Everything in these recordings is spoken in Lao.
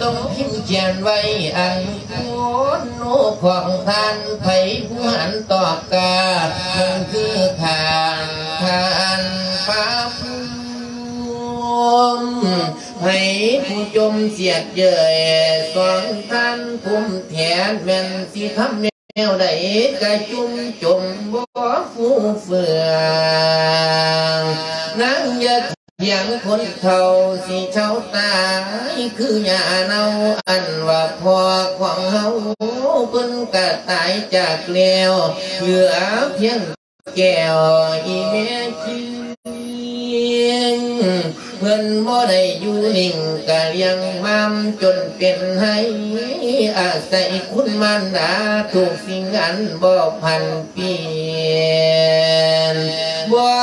ຕ້ອງພິມຂຽນໄວ້ອັນໂຄນໂນຂອງທ່ານ ໃຜຜູ້ຫັນຕອບກາ ເພິ່ນຄືທ່ານ ທ່ານພະພູມ ໃຫ້ຜູ້ຈົ່ມສຽດເຍີຍ ສອງທ່ານພູມແທ້ ແມ່ນຊິທຳແນວໃດ ກະຈຸ່ມຈົມບໍ່ຟູເຟືອງ ນາງຢ່າ ພຽງຄົນເຖົ້າຊິເຖົ້າຕາຍ ຄືຫຍ້າເນົ່າ ອັນວ່າພໍ່ຂອງເຮົາ ເພິ່ນກະຕາຍຈາກແລ້ວ ເຫຼືອພຽງແກ້ວອີ່ແມ່ຄິງ ເພິ່ນບໍ່ໄດ້ຢູ່ນິ່ງ ກະລ້ຽງມາມຈົນເປັນໄຮ ອາໄສຄຸນມານດາ ທຸກສິ່ງອັນບໍ່ຜັນປ່ຽນ ບໍ່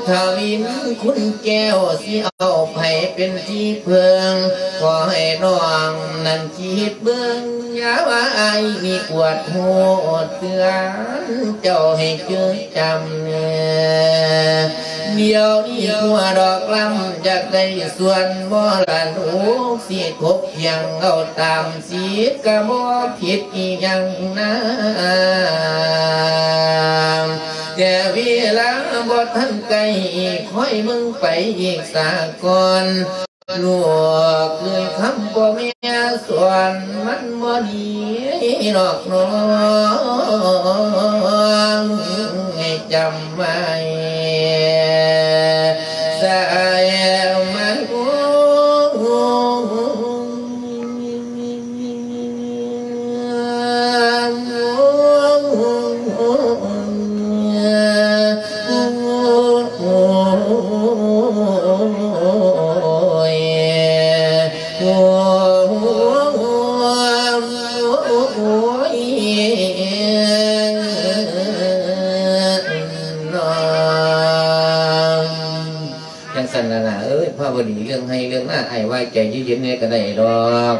ທະວິນຄຸນແກ້ວ ຊິເອົາໃຜເປັນທີ່ເພິ່ງ ຂໍໃຫ້ນ້ອງນັ້ນຄິດເບິ່ງ ຢ່າວ່າອ້າຍນີ້ກວດໂຫດເຕືອນ ເຈົ້າໃຫ້ຈື່ຈຳແນ່ ດຽວນີ້ຜົວດອກລຳ ຢາກໄດ້ສ່ວນມໍລະດົກ ຊິທົບພຽງເອົາຕາມສິດ ກະບໍ່ຜິດອີ່ຫຍັງນາ ແຕ່ເວລາບໍ່ທັນໃກ້ ຄອຍເບິ່ງໄປອີກສາກ່ອນ ລູກເອີຍ ຄຳພໍ່ແມ່ສອນມັນບໍ່ດີດອກນ້ອງ ໃຫ້ຈຳໄວ້ສາຍມັນ ຈັ່ງຊັ້ນລະນາເອີຍ ພາວະດີ ເລື່ອງໄຮ່ເລື່ອງນາ ອ້າຍວ່າໃຈເຢັນໆແດ່ກະໄດ້ດອກ.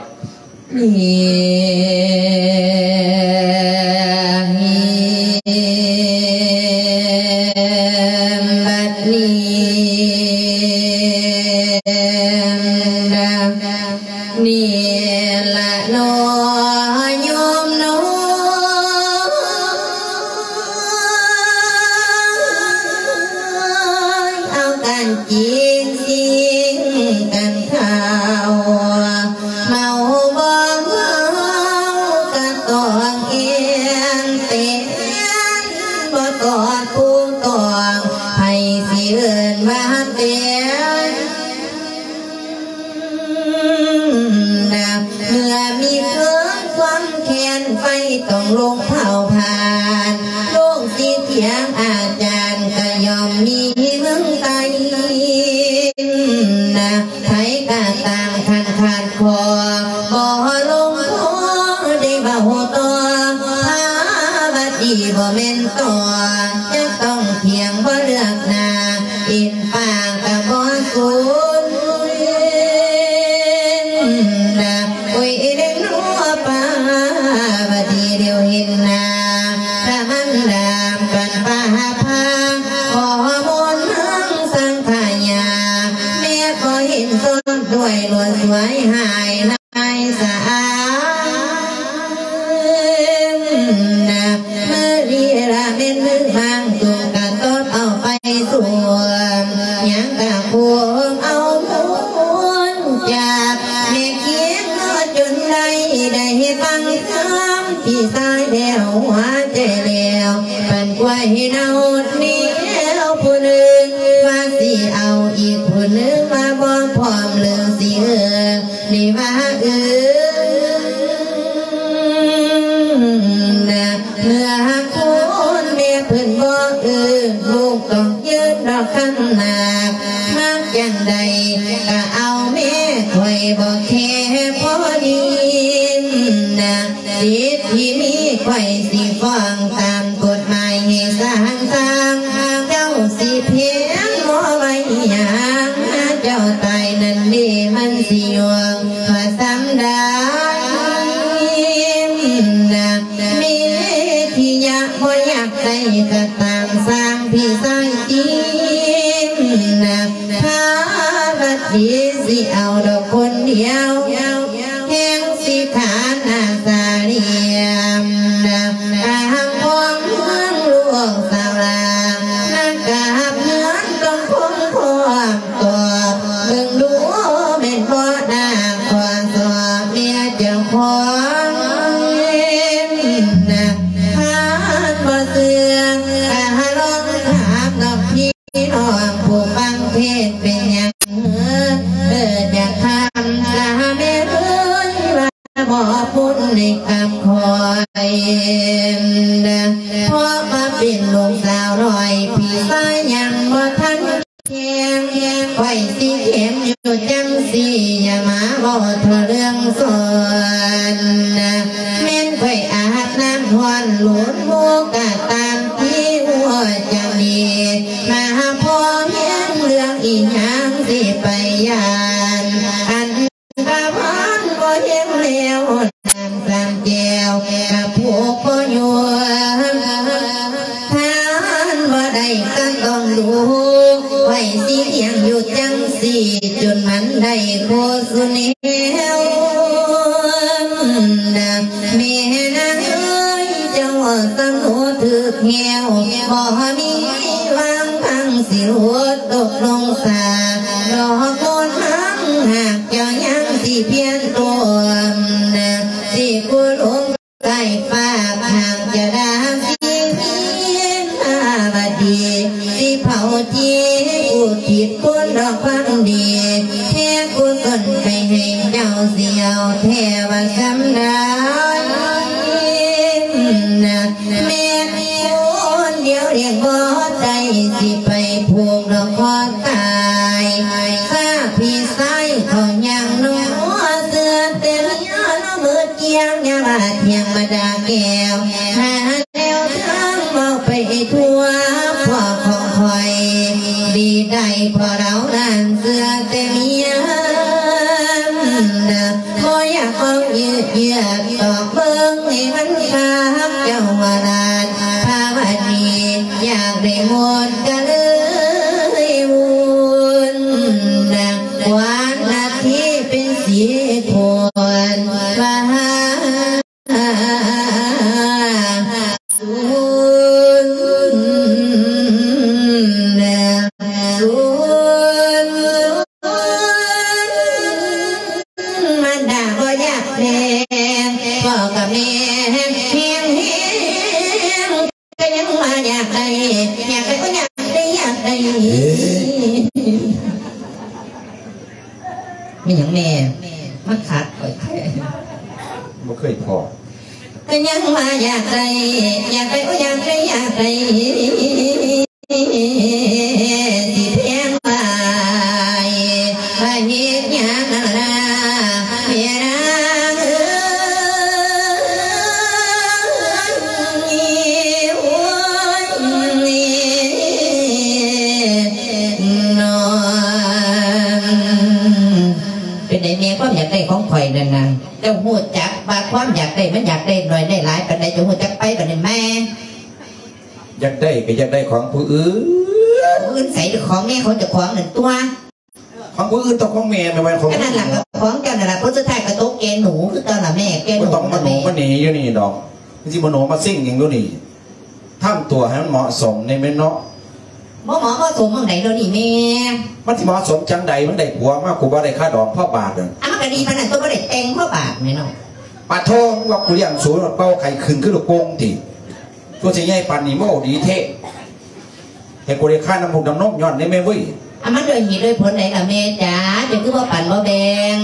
ບັດນີ້ ນີ້ລະເນາະໂຍມເນາະ ເອົາກັນກິນສິ່ງກັນເຂົ້າ ເມົາບໍ່ເມົາກະຕ້ອງແອ່ນແຕ່ນ ບໍ່ຕອດຜູ້ຕ້ອງ ໃຜຊິເອີ້ນວ່າແຕ່ນ ນະ ເມື່ອມີເຄື່ອງຄວາມແຄ້ນ ໄຟຕ້ອງລົງເຜົາຜານ ໂລກຊິຖຽງອາຈານ ກະຍ່ອມມີເມືອງໃຕ້ ນະ ໃຜກະຕາມຄັນຂາດຂໍ້ ບໍ່ລົງພໍໄດ້ເວົ້າຕໍ່ ພາວະດີບໍ່ແມ່ນຕໍ່ ຈະຕ້ອງຖຽງບໍ່ເລືອກໜ້າ ເອັນ ປາກກະບໍ່ສູນ ນະ ໂອ້ຍ ເດ້ເນາະ ປາວະດີ ດຽວເຫັນໜ້າ ພະມັນດາ ປັນປາພາ ຂໍມົນທັງສັງຂະຍາ ແມ່ຂໍເຫັນສົດດ້ວຍ ລວດສວຍຫາຍ ສະອາງນະ ມື້ນີ້ລະແມ່ນມື້ບາງ ໂຕກະຕອບເອົາໄປສວມ ຍັງກະໂຄມເອົາມູນຈາກ ແມ່ຄຽງເນາະ ຈົນໄດ້ ໄດ້ຟັງຄຳພີ່ຊາຍແລ້ວ ຫົວໃຈແລ້ວ ປັນກວາຍໃຫ້ເນົ່າແນວຜູ້ໜຶ່ງ ວ່າຊິເອົາອີກຜູ້ໜຶ່ງ ວ່າບໍ່ພ້ອມເລີຍຊິເອີ ນີ້ວ່າເອີນະ ເມື່ອຄົນແມ່ເພິ່ນບໍ່ເອີ ລູກຕ້ອງຢືນດອກຄຳໜາກ ມັກຈັ່ງໃດກະເອົາແມ່ ຂ້ອຍບໍ່ແຄພໍດີນະ ສິດທີ່ມີ ຂ້ອຍຊິຟ້ອງຕາມກົດໝາຍໃຫ້ສາງສາງ ເຈົ້າຊິພຽງບໍ່ໄວ້ຫຍັງ ເຈົ້າຕາຍນັ້ນເດ ມັນຊິຍວງວ່າສ່ຳໃດນະ ເມທິຍະບໍ່ຢາກໄດ້ກະຕາມ ສ້າງພີ່ຊາຍຈິງນະ ພາວັດດີຊິເອົາດອກຄົນດຽວ ໄດ້ກາບຂ້ອຍ ເພາະວ່າເປັນລູກສາວນ້ອຍ ພີ່ຊາຍຍັງບໍ່ທັນແຂງ ຂ້ອຍຊິແຂງຢູ່ຈັ່ງຊີ້ ຢ່າມາເວົ້າເຖິງເລື່ອງສອນ ແມ່ນຂ້ອຍອາບນ້ຳຮ້ອນ ໂລນໂມກະຕາມທີ່ຫົວໃຈ ມາພໍແຮງເລື່ອງອີຫຍັງຊິໄປຢ້ານ ອັນ ກະພັນບໍ່ແຮງແລ້ວ ນ້ຳສາມແກ້ວກະຜູກບໍ່ຢູ່ ທານບໍ່ໄດ້ກະຕ້ອງດູ ໄວ້ຊິລ້ຽງຢູ່ຈັ່ງຊີ້ ຈົນມັນໄດ້ຄູ່ສູ່ແນວ ແມ່ນາງເອີຍ ເຈົ້າສຳຮູ້ຖືກແນວ ບໍ່ມີຫວັງທາງຊິຫຼຸດຕົກລົງສາ ດອກໂມນຫາງ ຫາກເຈົ້າຍັງຊິພຽນຕົວມ ຊິກູ້ຫຼົງໃຕ້ຟ້າ ຫາກຈະດາຊິພຽນພາວະດີ ຊິເຜົາຈີ ອຸທິດຄຸນດອກຄວາມດີ ແຜ່ກຸສົນໄປໃຫ້ເຈົ້າ ຊິເອົາແທ້ວ່າສ່ຳໃດ ແມ່ນຄົນດຽວລ້ຽງບໍ່ໄດ້ ຊິໄປຜູກດອກຄໍຕາຍ ຊາພີ່ຊາຍເຂົາຍັງໜໍ ເຊື່ອແຕ່ເມຍລະເມີກຽງ ຢ່າວ່າທ່ຽງມາດາແກ້ວ ຫາແນວທາງເວົ້າໄປທົ່ວ ພວກຂອງຂ້ອຍດີໄດ້ ເພາະລາວນັ້ນເຊື່ອແຕ່ເມຍ ບໍ່ຢາກເວົ້າຢືດເຢືອດ ຕອກເບິ່ງໃຫ້ມັນຄັກ ເຈົ້າວ່າລາດພາວະດີ ຢາກໄດ້ໝົດກະເລີຍວຸ່ນ ກວານນາທີເປັນສິບຄົນ ວ່າຫາສູນ ສູນ ມັນດາບໍ່ຢາກແພງ ພໍ່ກັບແມ່ແຮງ ແຮງ ກະຍັງວ່າຢາກໄດ້ ຢາກໄດ້ ໂອ້ຍ ຢາກໄດ້ ຢາກໄດ້ ເອີ ແມ່ນຫຍັງແມ່ ມາຂັດຂ້ອຍແທ້ ບໍ່ເຄີຍພໍ້ ກະຍັງວ່າຢາກໄດ້ ຢາກໄດ້ ໂອ້ຍ ຢາກໄດ້ ຢາກໄດ້ ຊິແພງຫຼາຍ ວ່າເຮັດຫຍັງລະ ແມ່ນາງເອີຍ ໂອ້ຍ ເນາະ ເປັນໃດແມ່ ຄວາມຢາກໄດ້ຂອງຂ້ອຍນັ້ນນະ ເຈົ້າຮູ້ຈັກວ່າຄວາມຢາກໄດ້ມັນຢາກໄດ້ໜ້ອຍໄດ້ຫຼາຍປານໃດ ເຈົ້າຮູ້ຈັກໄປບາດນີ້ແມ່? ຢາກໄດ້ກະຢາກໄດ້ຂອງຜູ້ອື່ນ ຜູ້ອື່ນໃສ ຂອງແມ່ຂອງເຈົ້າຂອງນັ້ນຕົວະ ຂອງຜູ້ອື່ນຕ້ອງຂອງແມ່ ແມ່ນບໍ່ຂອງ ກະນັ້ນລະ ຂອງເຈົ້ານັ້ນລະ ຜົນສຸດທ້າຍກະຕົກແກ່ໜູຄືເກົ່າລະແມ່ ແກ່ໜູ ບໍ່ຕ້ອງມາໂນມາເໜີຢູ່ນີ້ດອກ ມັນຊິມາໂນມາເຊັງຫຍັງຢູ່ນີ້ ທຳຕົວໃຫ້ມັນເໝາະສົມແດ່ແມ່ນເນາະ ບໍ່ເໝາະບໍ່ສົມໝ່ອງໃດດຽວນີ້ແມ່ ມັນຊິເໝາະສົມຈັ່ງໃດ ມັນໄດ້ຜົວມາ ກູບໍ່ໄດ້ຄ່າດອງພໍບາດ ອັນມັນກະດີປານນັ້ນຕົວະ ບໍ່ໄດ້ແຕ່ງພໍບາດແມ່ເນາະ ປາໂທ ວ່າກູລ້ຽງສູເປົ່າໄຂ່ຂຶ້ນຄືລູກໂປ່ງຕິ ຕົວຊິໃຫຍ່ປານນີ້ ເວົ້າດີແທ້ ໃຫ້ກູໄດ້ຄານຳລູກນຳນົມຍ້ອນນີ້ແມ່ເວີຍ ອາ ມັນດ້ວຍເຫດດ້ວຍຜົນໃດລະແມ່ຈ໋າ ເຈົ້າຄືບໍ່ປັນບໍ່ແບ່ງ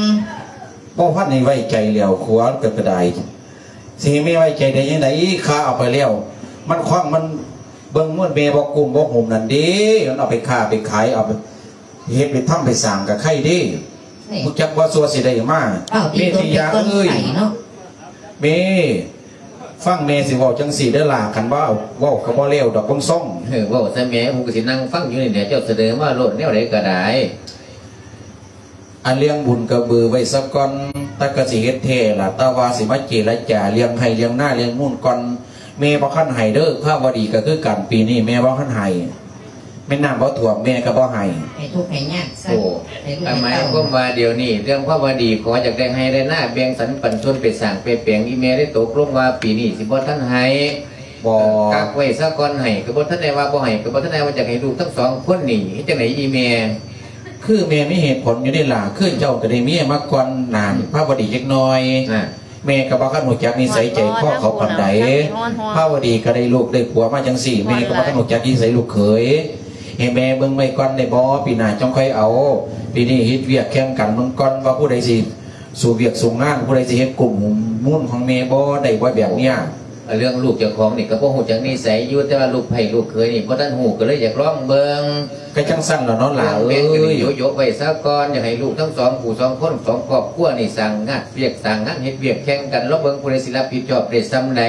ບໍ່ທັນໄດ້ໄວ້ໃຈແລ້ວ ຜົວເຈົ້າກະໄດ້ ຊິໃຫ້ແມ່ໄວ້ໃຈໄດ້ຈັ່ງໃດ ຂ້າເອົາໄປແລ້ວ ມັນຄວາງມັນເບິ່ງໝົດ ແມ່ບໍ່ກຸ້ມບໍ່ຫຸ້ມນັ້ນເດ້ ມັນເອົາໄປຄ້າໄປຂາຍ ເອົາໄປເຮັດໄປທຳໄປສ້າງກະໄຄເດ້ ຮູ້ຈັກບໍ່ ຊົ່ວຊິໄດ້ມາ ເມຕິຍາເອີຍ ເມ ຟັງແມ່ຊິເວົ້າຈັ່ງຊີ້ເດີຫຼ້າ ຄັນວ່າເວົ້າກະບໍ່ແລ້ວດອກ ເບິ່ງຊົງ ເອີ ເວົ້າຊະແມ່ ຜູ້ກະຊິນັ່ງຟັງຢູ່ນີ້ແຫຼະ ເຈົ້າສະເໜີມາໂລດແນວໃດກະໄດ້ ອັນເລື່ອງບຸນກະເບີໄວ້ສາກ່ອນ ແຕ່ກະຊິເຮັດແທ້ລະ ແຕ່ວ່າຊິມາເຈລະຈາເລື່ອງໄຮ່ເລື່ອງນາເລື່ອງມູນກ່ອນ ແມ່ບໍ່ທັນໃຫ້ເດີ ພາວະດີກະຄືກັນ ປີນີ້ແມ່ບໍ່ທັນໃຫ້ ແມ່ນນ້ຳບໍ່ຖ້ວມແມ່ກະບໍ່ໃຫ້ ໃຫ້ທຸກໃຫ້ຍາກຊະ ໂອ້ ໃຫ້ລູກໃຫ້ເຕົ້າ ໝາຍຄວາມວ່າດຽວນີ້ເລື່ອງພາວະດີ ຂໍຢາກໄດ້ໄຮ່ໄດ້ນາ ແບ່ງສັນປັນສ່ວນໄປສ້າງໄປແປງ ອີ່ແມ່ໄດ້ຕົກລົງວ່າປີນີ້ຊິບໍ່ທັນໃຫ້ ບໍ່ ກັກໄວ້ສາກ່ອນ ໃຫ້ກະບໍ່ທັນໄດ້ວ່າບໍ່ໃຫ້ ກະບໍ່ທັນໄດ້ວ່າຢາກໃຫ້ລູກທັງສອງຄົນນີ້ ເຮັດຈັ່ງໃດອີ່ແມ່ ຄືແມ່ມີເຫດຜົນຢູ່ເດ້ຫຼ້າ ຄືເຈົ້າກະໄດ້ເມຍມາກ່ອນໜ້າພາວະດີຈັກໜ້ອຍ ແມ່ກະບໍ່ທັນຮູ້ຈັກນິໄສໃຈຄໍເຂົາປານໃດ ພາວະດີກະໄດ້ລູກໄດ້ຜົວມາຈັ່ງຊີ້ ແມ່ກະບໍ່ທັນຮູ້ຈັກນິໄສລູກເຂີຍ ໃຫ້ແມ່ເບິ່ງໄວ້ກ່ອນໄດ້ບໍ່ ປີໜ້າຈັ່ງຄ່ອຍເອົາ ປີນີ້ເຮັດວຽກແຂ່ງກັນເບິ່ງກ່ອນວ່າຜູ້ໃດຊິ ສູ່ວຽກສູ່ງານ ຜູ້ໃດຊິເຮັດກົ້ມຫຸ້ມມູນຂອງແມ່ບໍ່ ໄດ້ບໍ່ແບບເນີ້ຍ? ເລື່ອງລູກເຈົ້າຂອງນີ້ກໍບໍ່ຮູ້ຈັກນິໄສຢູ່ ແຕ່ວ່າລູກໃພ້ລູກເຂີຍນີ້ບໍ່ທັນຮູ້ ກໍເລີຍຢາກລອງເບິ່ງ. ກໍຈັ່ງຊັ້ນລະເນາະຫຼ້າເອີຍ ເລື່ອງແມ່ນກໍໄດ້ໂຍະໆໄວ້ຊະກ່ອນ ຢາກໃຫ້ລູກທັງສອງຜູ້ສອງຄົນ ສອງຄອບຄົວນີ້ສ້າງງານວຽກສ້າງງານເຮັດວຽກແຂ່ງກັນ ລອງເບິ່ງຜູ້ໃດຊິຮັບຜິດຊອບໄດ້ສ່ຳໃດ.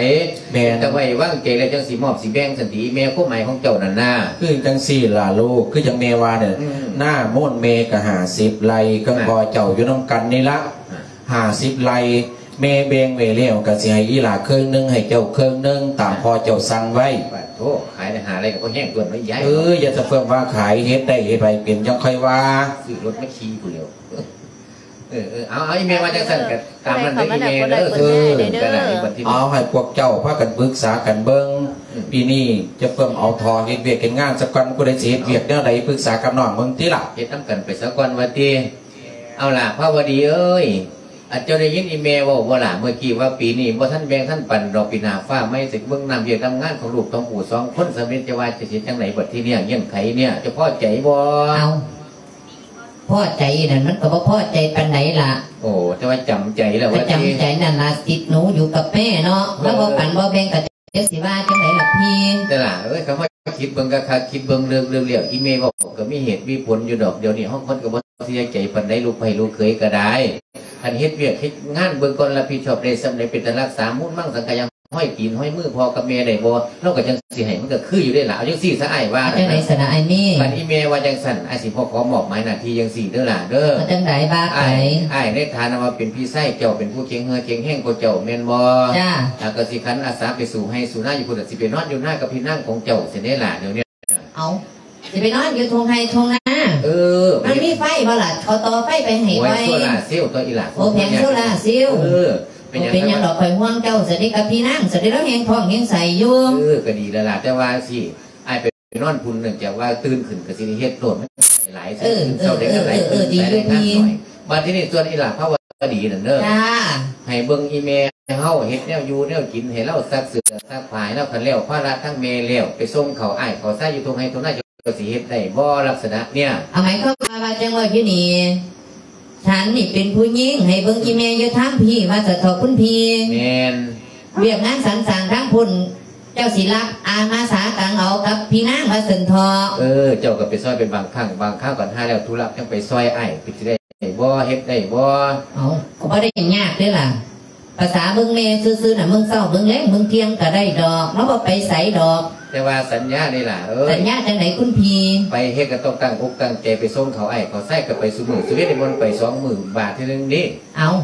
ແມ່ນ ແຕ່ໄວ້ວາງໃຈແລ້ວຈັ່ງຊິມອບຊິແບ່ງຊັ້ນຕິ ແມ່ ຄວາມໝາຍຂອງເຈົ້ານັ້ນນາ. ຄືຈັ່ງຊີ້ລະລູກ ຄືຈັ່ງແມ່ວ່ານີ້ ອືມ ນາໂມນແມ່ກໍຫ້າສິບໄຮ່ ກັບ ອ່າ ພໍ່ເຈົ້າຢູ່ນຳກັນນີ້ລະ ອ່າ ຫ້າສິບໄຮ່ ແມ່ແບ່ງໄວ້ແລ້ວ ກໍຊິໃຫ້ອີ່ຫຼ້າເຄິ່ງໜຶ່ງ ໃຫ້ເຈົ້າເຄິ່ງໜຶ່ງ ຕາມພໍ່ເຈົ້າສັ່ງໄວ້. ປາດໂທ ຂາຍໄດ້ຫ້າໄຮ່ກໍບໍ່ແຮງຕົວະຍາຍ. ເອີ ຢ່າສະເຟີ້ມວ່າຂາຍ ເຮັດໄດ້ເຮັດໄປເປັນຈັ່ງຄ່ອຍວ່າ ຊື້ລົດມາຂີ່ພຸ້ນແລ້ວ. ເອີໆ ເອົາໆ ອີ່ແມ່ວ່າຈັ່ງຊັ້ນກໍຕາມນັ້ນເດີອີ່ແມ່ເດີ. ເອີ ກໍໄດ້ບັດທີນີ້ ເອົາໃຫ້ພວກເຈົ້າພາກັນປຶກສາກັນເບິ່ງ ອືມ ປີນີ້ຈະເພີ່ມເອົາທໍ່ເຮັດວຽກເຮັດງານສາກ່ອນ ຜູ້ໃດຊິເຮັດວຽກແນວໃດປຶກສາກັບນ້ອງເບິ່ງຕິລະ ເຮັດນຳກັນໄປສາກ່ອນວ່າຕິ. ເອົາລະ ພາວະດີເອີຍ ອາ ເຈົ້າໄດ້ຍິນອີ່ແມ່ເວົ້າບໍ່ລະ ເມື່ອກີ້ວ່າປີນີ້ບໍ່ທັນແບ່ງທັນປັນດອກ ປີໜ້າຟ້າໃໝ່ຊິເບິ່ງນຳວຽກນຳງານຂອງລູກຂອງຜູ້ສອງຄົນ ສຳເລັດ ຈະວ່າຈະເຮັດຈັ່ງໃດບັດທີນີ້ ເງື່ອນໄຂນີ້ ເຈົ້າພໍໃຈບໍ່? ເອົາ ພໍໃຈນັ້ນມັນກໍບໍ່ພໍໃຈປານໃດລະ. ໂອ້ ແຕ່ວ່າຈຳໃຈແລ້ວ ກໍ ວ່າ ຈຳໃຈນັ້ນລະ ສິດໜູຢູ່ກັບແມ່ເນາະ ເອີ ລາວບໍ່ປັນບໍ່ແບ່ງກໍ ຈະຊິວ່າຈັ່ງໃດລະພີ່? ແຕ່ຫຼ້າເອີຍ ຄຳວ່າຄິດເບິ່ງຄັກໆ ຄິດເບິ່ງເລິກໆ ແລ້ວອີ່ແມ່ເວົ້າກໍມີເຫດມີຜົນຢູ່ດອກ. ດຽວນີ້ເຮົາຄົນກໍບໍ່ເສຍໃຈປານໃດ ລູກໃພ້ລູກເຂີຍກໍໄດ້ ຄັນເຮັດວຽກເຮັດງານເບິ່ງກ່ອນ ຮັບຜິດຊອບໄດ້ສ່ຳໃດ ເປັນຕາຮັກສາມູນມັງສັງກະຍັງ ຮອຍຕີນຮອຍມືພໍ່ກັບແມ່ໄດ້ບໍ່ ລາວກໍຈັ່ງຊິໃຫ້ ມັນກໍຄືຢູ່ເດ້ລະ. ເອົາຈັ່ງຊີ້ຊະ ອ້າຍວ່າ ເອົາຈັ່ງໃດຊັ້ນລະອ້າຍມີ? ຄັນອີ່ແມ່ວ່າຈັ່ງຊັ້ນ ອ້າຍຊິຂໍມອບໝາຍໜ້າທີ່ຈັ່ງຊີ້ເດີຫຼ້າເດີ. ເອົາຈັ່ງໃດວ່າໄປ. ອ້າຍ ອ້າຍໃນຖານະວ່າເປັນພີ່ຊາຍເຈົ້າ ເປັນຜູ້ເກັ່ງເຫື່ອເກັ່ງແຮງກວ່າເຈົ້າແມ່ນບໍ່? ຈ້າ. ແລ້ວກໍຊິຂັນອາສາໄປສູ່ໄຮ່ສູ່ນາຢູ່ພຸ້ນ ຊິໄປນອນຢູ່ນາກັບພີ່ນາງຂອງເຈົ້າຊັ້ນເດ້ຫຼ້າ ດຽວນີ້. ເອົາ ຊິໄປນອນຢູ່ທົ່ງໄຮ່ທົ່ງນາ? ເອີ ມັນມີໄຟບໍ່ລະ? ເຂົາຕໍ່ໄຟໄປໃຫ້ ໂອ້ຍ ຂ້ອຍ ໂຊລາເຊວຕົວະອີ່ຫຼ້າ. ໂອ້ ແຜງໂຊລາເຊວ. ເອີ ເປັນຫຍັງ ເປັນຫຍັງດອກ ຂ້ອຍຫ່ວງເຈົ້າຊະເດ ກັບພີ່ນາງຊະເດ ລາວແຮງທ້ອງແຮງໄສ້ຢູ່. ເອີ ກໍດີແລ້ວລະ ແຕ່ວ່າຊິ ອ້າຍໄປນອນພຸ້ນ ເນື່ອງຈາກວ່າຕື່ນຂຶ້ນກໍຊິໄດ້ເຮັດໂລດ ມັນຫຼາຍ ເອີ ເອີ ເອີ ເອີ ດີຢູ່ພີ່. ບາດທີນີ້ສ່ວນອີ່ຫຼ້າພາວະດີນັ້ນເດີ ຈ້າ ໃຫ້ເບິ່ງອີ່ແມ່ເຮົາເຮັດແນວຢູ່ແນວກິນ ໃຫ້ລາວຊັກເສື້ອຊັກຜ້າໃຫ້ລາວ. ຄັນແລ້ວພາລະທາງແມ່ແລ້ວ ໄປສົ່ງເຂົ້າອ້າຍເຂົ້າຊາຍຢູ່ທົ່ງໄຮ່ທົ່ງນາ ເຈົ້າຊິເຮັດໄດ້ບໍ່ ລັກສະນະເນີ້ຍ? ເອົາ ໝາຍຄວາມວ່າ ວ່າຈັ່ງເວົ້າຢູ່ນີ້ ສັນນີ້ເປັນຜູ້ຍິງ ໃຫ້ເບິ່ງອີ່ແມ່ຢູ່ທາງພີ້ ວ່າຊັ້ນເຖາະຄຸນພີ່. ແມ່ນ. ວຽກງານສັນສ້າງທາງພຸ້ນ ເຈົ້າຊິຮັບອາມາສາກັງເອົາກັບພີ່ນາງ ວ່າຊັ້ນເຖາະ. ເອີ ເຈົ້າກໍໄປຊ່ອຍເປັນບາງຄັ້ງບາງຄາວ ຄັນຫາແລ້ວທຸລະຈັ່ງໄປຊ່ອຍອ້າຍ ເປັນຊິໄດ້ບໍ່ ເຮັດໄດ້ບໍ່? ເອົາ ກໍບໍ່ໄດ້ຍາກເດ້ລະ ພາສາເບິ່ງແມ່ຊື່ໆນະ ເບິ່ງເຊົ້າເບິ່ງແລງເບິ່ງທ່ຽງກໍໄດ້ດອກ ລາວບໍ່ໄປໃສດອກ. ແຕ່ວ່າສັນຍາເດ້ຫຼ້າເອີຍ. ສັນຍາຈັ່ງໃດຄຸນພີ່? ໄປເຮັດກໍຕ້ອງຕັ້ງອົກຕັ້ງໃຈ ໄປສົ່ງເຂົ້າອ້າຍເຂົ້າຊາຍ ກໍໄປຊຸມື້ ຊີວິດນີ້ມັນໄປສອງມື້ບາດເທື່ອໜຶ່ງເດ້. ເອົາ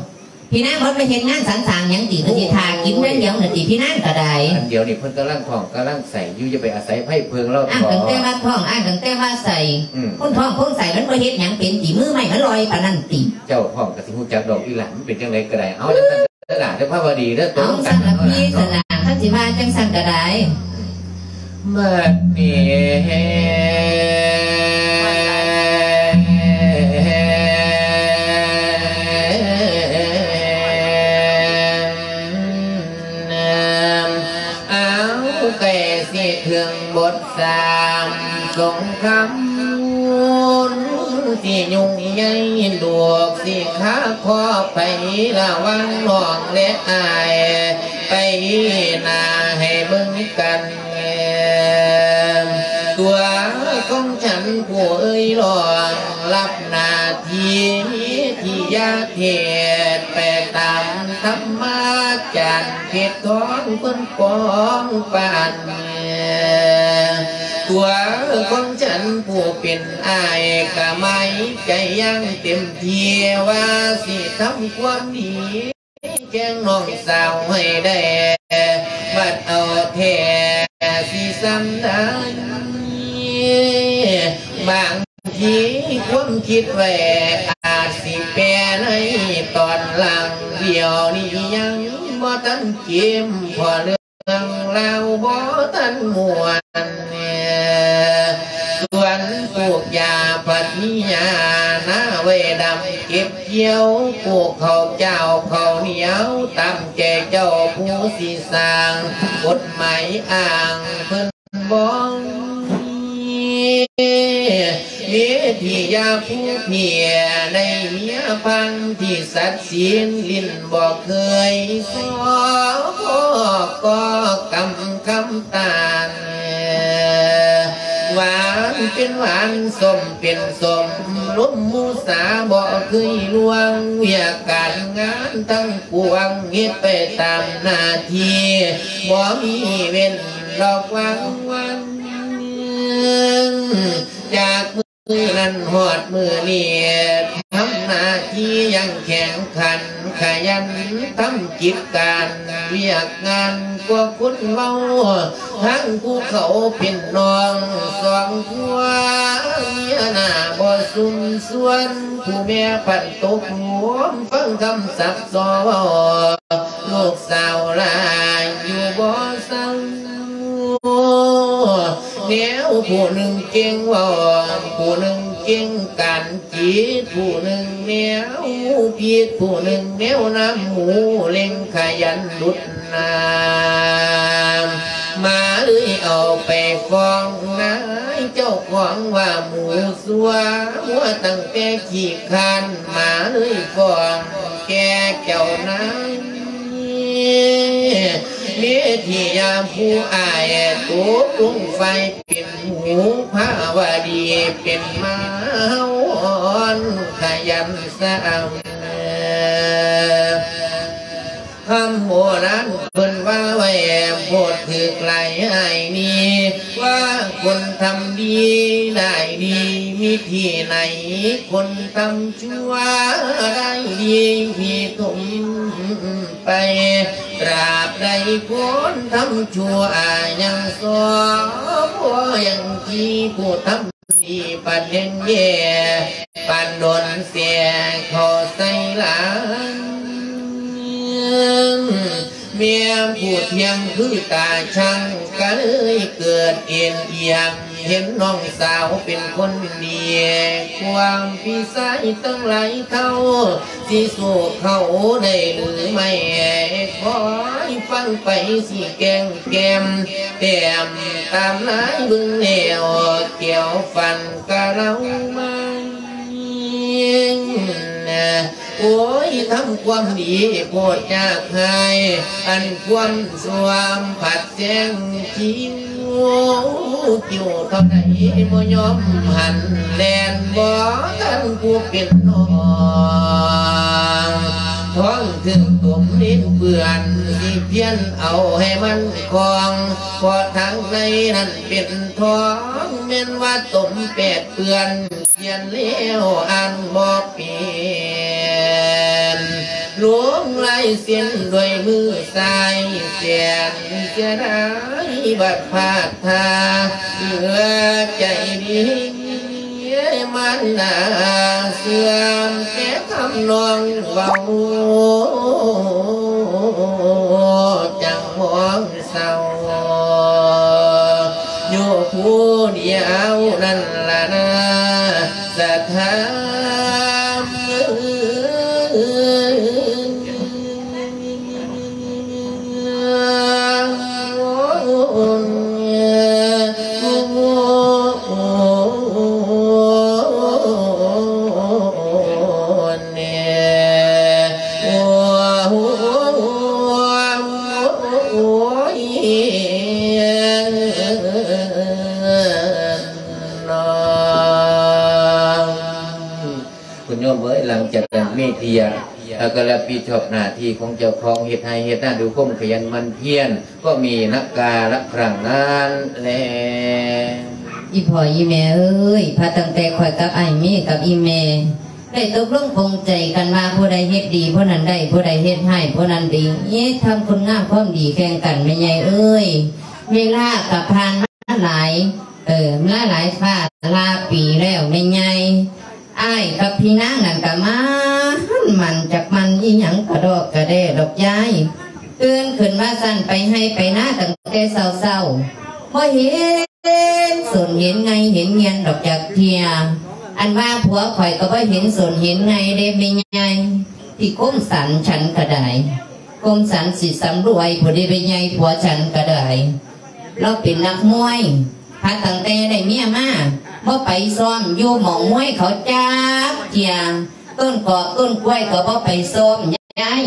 ພີ່ນາງບໍ່ໄປເຮັດງານສັນສ້າງຫຍັງຕິ? ກໍຊິຖ້າກິນຢ່າງດຽວນັ້ນຕິ ພີ່ນາງກໍໄດ້. ອັນດຽວນີ້ເພິ່ນກຳລັງທ້ອງກຳລັງໄສ້ຢູ່ ຢ່າໄປອາໄສໃຜເພິ່ງລາວ. ອ້າງຕັ້ງແຕ່ວ່າທ້ອງ ອ້າງຕັ້ງແຕ່ວ່າໄສ້. ອືມ ຄົນທ້ອງຄົນໄສ້ມັນບໍ່ເຮັດຫຍັງເປັນຕິ? ມືໄມ້ມັນລອຍປານນັ້ນຕິ? ເຈົ້າທ້ອງກໍຊິຮູ້ຈັກດອກອີ່ຫຼ້າ ມັນເປັນຈັ່ງໃດກໍໄດ້. ເອົາຈັ່ງຊັ້ນ ເດີຫຼ້າເດີ ພາວະດີເດີ. ເອົາ ຊັ້ນລະພີ່ ຊັ້ນລະ ຄັນຊິວ່າຈັ່ງຊັ້ນກໍໄດ້. ບັດນີ້ ເອົາ ໃກ້ຊິເຖິງບົດ ສາມ ສົງຄາມ ທີ່ຫຍຸ້ງໃຫຍ່ ລູກຊິຄາຂໍໄປລະຫວ່າງນ້ອງແລະອ້າຍ ໄປໜ້າໃຫ້ເບິ່ງກັນ ຕົວຂອງສັນຜູ້ເອີ່ຍ ລອງຮັບໜ້າທີ່ ທີ່ຢາກເຮັດໄປຕາມທຳມະຈານ ເຂດຂອງເພິ່ນປ້ອງປັນ ຕົວຂອງສັນຜູ້ເປັນອ້າຍ ກະໝາຍໃຈຢ່າງເຕັມທີ່ ວ່າຊິທຳຄວາມດີແກ່ນ້ອງສາວໃຫ້ໄດ້ ບັດເອົາແທ້ຊິສ່ຳໃດ ບາງ ທີ່ຄວາມຄິດໄວ້ອາດຊິແປໃນຕອນຫຼັງ ດຽວນີ້ຍັງບໍ່ທັນເກມ ເພາະເລື່ອງລາວບໍ່ທັນມ່ວນ. ສວນປູກຢາພັດມີຫຍ້າ ນາໄວ້ດຳເກັບກ່ຽວ ປູກເຂົ້າຈ້າວເຂົ້າໜຽວ ຕາມໃຈເຈົ້າຜູ້ຊິສ້າງ ກົດໝາຍອ້າງເພິ່ນ ບໍ່ມີ ເມທິຍາຜູ້ເພຍ ໄດ້ເມຍພັນທີ່ສັດສິນ ຫຼິ້ນບໍ່ເຄີຍຊອກໍກຳຄຳຕານ ຫວານເປັນຫວານ ສົ້ມເປັນສົ້ມ ລົມມຸສາບໍ່ເຄີຍລ່ວງ ວຽກການງານທັງປວງ ເຮັດໄປຕາມໜ້າທີ່ ບໍ່ມີເວັ້ນ ດອກວັງວັນ ຈາກມື້ນັ້ນຮອດມື້ນີ້ ທຳໜ້າທີ່ຢ່າງແຂງຂັນ ຂະຫຍັນທຳກິດການວຽກງານ ກວ່າຄົນເມົາ ທັງຜູ້ເຂົາເປັນນ້ອງສອງຜົວ ເມຍໜ້າບໍ່ຊຸມຊວນ ຜູ້ແມ່ພັນຕົກຫຼວມ ຟັງຄຳສັບສອນ ລູກສາວຫຼາຍຢູ່ບໍ່ເຊົາ ແນວຜູ້ໜຶ່ງເກັ່ງເວົ້າ ຜູ້ໜຶ່ງເກັ່ງການຈິດ ຜູ້ໜຶ່ງແນວຜິດ ຜູ້ໜຶ່ງແນວນ້ຳຫູ ເລັ່ງຂະຫຍັນດຸດນ້ຳ ໝາເລີຍເອົາໄປຟ້ອງນາຍເຈົ້າຂອງວ່າໝູ ຊົ່ວ ມົວຕັ້ງແຕ່ຂີ້ຄ້ານ ໝາເລີຍຟ້ອງແກ່ເຈົ້ານາຍ ເມທິຍາຜູ້ອ້າຍ ຕົກລົງໄຟເປັນໝູ ພາວະດີເປັນໝາ ເຮົາອ່ອນຂະຫຍັນສະອຳ ຄຳໂບລານເພິ່ນວ່າໄວ້ ໂທດຖືກຫຼາຍອ້າຍນີ້ ວ່າຄົນທຳດີໄດ້ດີ ມີທີ່ໃນຄົນທຳຊົ່ວໄດ້ດີ ມີຖົມໄປ ຕາບໃດຄົນທຳຊົ່ວຍັງຊອ ບໍ່ຍັງທີ່ຜູ້ທຳ ດີປານແດງແຍ່ ປານດອນແສເຂົ້າໃສ່ຫຼັງ ແມ່ນຜູ້ທ່ຽງຄືຕາຊ່າງ ກະເລີຍເກີດເອັນອຽງ ເຫັນນ້ອງສາວເປັນຄົນດີ ຄວາມພີ່ຊາຍທັງຫຼາຍເທົ່າ ຊິສູ້ເຂົາໄດ້ຫຼືໄມ່ ຄອຍຟັງໄປຊິແກ້ງແກ້ມ ແຕ້ມຕາມລາຍເບິ່ງແລ້ວ ແກ້ວຝັນກະເລົ່າມາ ໂອ້ຍ ທຳຄວາມດີໂພດຢາກຫາຍ ອັນຄວາມຊົ່ວພັດແຊງຄິວ ຄິວເທົ່າໃດບໍ່ຍອມຫັນ ແລ່ນບໍ່ທັນຜູ້ເປັນນ້ອງ ທ້ອງຖືກຕົມດິນເປື້ອນ ຊິພຽນເອົາໃຫ້ມັນຄອງ ເພາະທາງໃນນັ້ນເປັນທອງ ແມ່ນວ່າຕົມແປດເປື້ອນ ຂຽນແລ້ວອ່ານບໍ່ເປັນ ລົງລາຍເຊັນດ້ວຍມືຊ້າຍ ແສນເສຍດາຍບັດພາດທ່າ ເຫຼືອໃຈດີ ມານາເສື່ອມແຕ່ຄຳນ້ອງເວົ້າ ຈັ່ງມອງເສົ້າ ຢູ່ຜູ້ດຽວນັ້ນລະນາ ສະຖານ ຄຸນໂຍມເອີຍ ຫຼັງຈາກນັ້ນເມທິຍາ ແລ້ວກໍຮັບຜິດຊອບໜ້າທີ່ຂອງເຈົ້າຂອງ ເຮັດໄຮ່ເຮັດນາດ້ວຍຄວາມຂະຫຍັນໝັ່ນພຽນ ກໍມີນັກກາລະຄັ້ງນັ້ນແລ. ອີ່ພໍ່ອີ່ແມ່ເອີຍ ພາຕັ້ງແຕ່ຂ້ອຍກັບອ້າຍເມກັບອີ່ແມ່ ໄດ້ຕົກລົງປົງໃຈກັນວ່າ ຜູ້ໃດເຮັດດີຜູ້ນັ້ນໄດ້ ຜູ້ໃດເຮັດຮ້າຍຜູ້ນັ້ນໄດ້ ທຳຄຸນງາມຄວາມດີແຂ່ງກັນ ແມ່ໃຫຍ່ເອີຍ ເວລາກໍຜ່ານມາຫຼາຍ ເອີ ມາຫຼາຍຊາດຫຼາຍປີແລ້ວແມ່ໃຫຍ່. ອ້າຍກັບພີ່ນາງນັ້ນກໍໝັ່ນ ໝັ່ນ ຈັກໝັ່ນອີ່ຫຍັງກະດອກກະແດ່ດອກຍາຍ ຕື່ນຂຶ້ນມາຊັ້ນໄປໄຮ່ໄປນາຕັ້ງແຕ່ເຊົ້າໆ ບໍ່ເຫັນສົນເຫັນໄງເຫັນງຽນດອກຈັກເທື່ອ ອັນວ່າຜົວຂ້ອຍກໍບໍ່ເຫັນສົນເຫັນໄງເດ້ແມ່ໃຫຍ່ ທີ່ຄົມສັນ ສັນກະດາຍ ຄົມສັນສີສຳລວຍ ຜູ້ໃດແມ່ໃຫຍ່ ຜົວສັນກະດາຍ ລາວເປັນນັກມວຍ ຄັດຕັ້ງແຕ່ໄດ້ເມຍມາ ບໍ່ໄປຊ້ອມຢູ່ໝ່ອງມວຍເຂົາຈັກເທື່ອ ຕົ້ນກອກຕົ້ນກ້ວຍກໍບໍ່ໄປຊ້ອມ ຍາຍ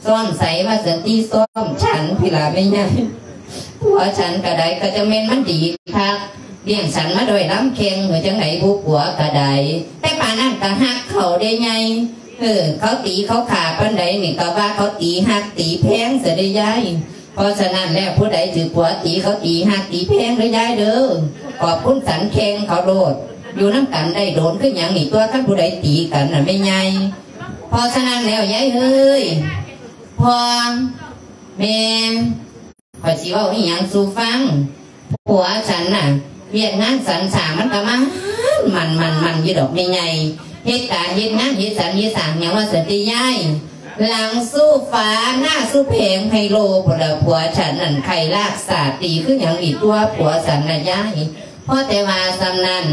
ຊ້ອມໃສວ່າຊັ້ນຕິ ຊ້ອມສັນພີ້ລະແມ່ຍາຍ. ຜົວສັນກະໄດ້ ກະຈັ່ງແມ່ນມັນດີຄັກ ລ້ຽງສັນມາດ້ວຍລຳແຂ່ງ ເອີ ຈັ່ງໃດບຸ ຜົວກະໄດ້ ແຕ່ປານນັ້ນກະຮັກເຂົາເດ້ຍາຍ. ເອີ ເຂົາຕີເຂົາຂ້າປານໃດນີ້ ກະວ່າເຂົາຕີຮັກຕີແພງຊະເດ້ຍາຍ. ເພາະສະນັ້ນແລ້ວ ຜູ້ໃດຖືກຜົວຕີ ເຂົາຕີຮັກຕີແພງເດີຍາຍເດີ ຂອບຄຸນສັນແຂ່ງເຂົາໂລດ ຢູ່ນຳກັນໄດ້ດົນຄືຫຍັງນີ້ຕົວະ ຄັນຜູ້ໃດຕີກັນນະແມ່ຍາຍ. ເພາະສະນັ້ນແລ້ວຍາຍເອີຍ ພໍ່ ແມ່ ຂ້ອຍຊິເວົ້າອີ່ຫຍັງສູ່ຟັງ. ຜົວສັນນະ ວຽກງານສັນສ້າງມັນກະໝັ່ນ ໝັ່ນ ໝັ່ນ ໝັ່ນຢູ່ດອກແມ່ໃຫຍ່ ເຮັດການເຮັດງານເຮັດສັນເຮັດສ້າງຫຍັງວ່າຊັ້ນຕິຍາຍ. ຫຼັງສູ້ຟ້າໜ້າສູ້ແຜງໄຮໂລພຸ້ນລະ ຜົວສັນນັ້ນໄຂ້ລາກສາດ ຕີຄືຫຍັງນີ້ຕົວະ ຜົວສັນນະຍາຍ. ພໍແຕ່ວ່າສ່ຳນັ້ນ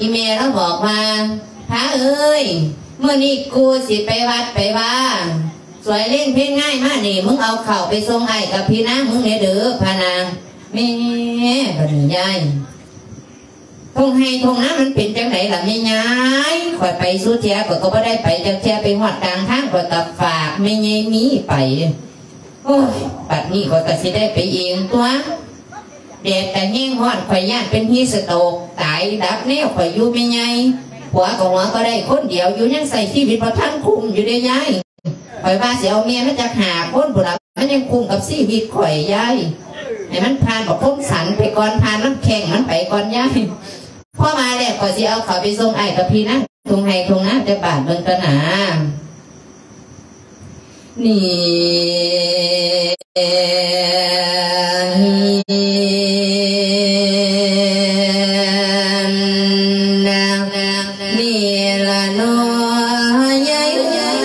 ອີ່ແມ່ລາວບອກວ່າ ພາເອີຍ ມື້ນີ້ກູຊິໄປວັດໄປວາ ສວຍເລນເພນງາຍມານີ້ ມຶງເອົາເຂົ້າໄປສົ່ງອ້າຍກັບພີ່ນາງມຶງແດ່ເດີ ພະນາ. ແມ່ ບັດນີ້ຍາຍ ທົ່ງໄຮ່ທົ່ງນາມັນເປັນຈັ່ງໃດລະແມ່ຍາຍ? ຂ້ອຍໄປສູ່ເທື່ອ ຂ້ອຍກໍບໍ່ໄດ້ໄປຈັກເທື່ອ ໄປຮອດກາງທາງ ຂ້ອຍກໍຝາກແມ່ໃຫຍ່ມີໄປ. ໂອ້ຍ ບັດນີ້ຂ້ອຍກໍຊິໄດ້ໄປເອງຕົວະ ແດດກະແຮງຮ້ອນ ຂ້ອຍຢ້ານເປັນຮີດສະໂຕກຕາຍດັບແນວຂ້ອຍຢູ່ແມ່ໃຫຍ່. ຜົວກໍຫົວກໍໄດ້ຄົນດຽວຢູ່ ຍັງໃຊ້ຊີວິດບໍ່ທັນຄຸ້ມຢູ່ເດ້ຍາຍ. ຂ້ອຍວ່າຊິເອົາເມຍມາຈັກຫ້າຄົນພຸ້ນລະ ມັນຍັງຄຸ້ມກັບຊີວິດຂ້ອຍຍາຍ. ໃຫ້ມັນຜ່ານບັກຄົມສັນໄປກ່ອນ ຜ່ານລຳແຂ້ງມັນໄປກ່ອນຍາຍ. ພໍມາແລ້ວ ຂ້ອຍຊິເອົາເຂົ້າໄປສົ່ງອ້າຍກັບພີ່ນາງທົ່ງໄຮ່ທົ່ງນາຈັກບາດເບິ່ງຕາໜ້າ. ນີ້ ນີ້ລະເນາະຍາຍເອີຍ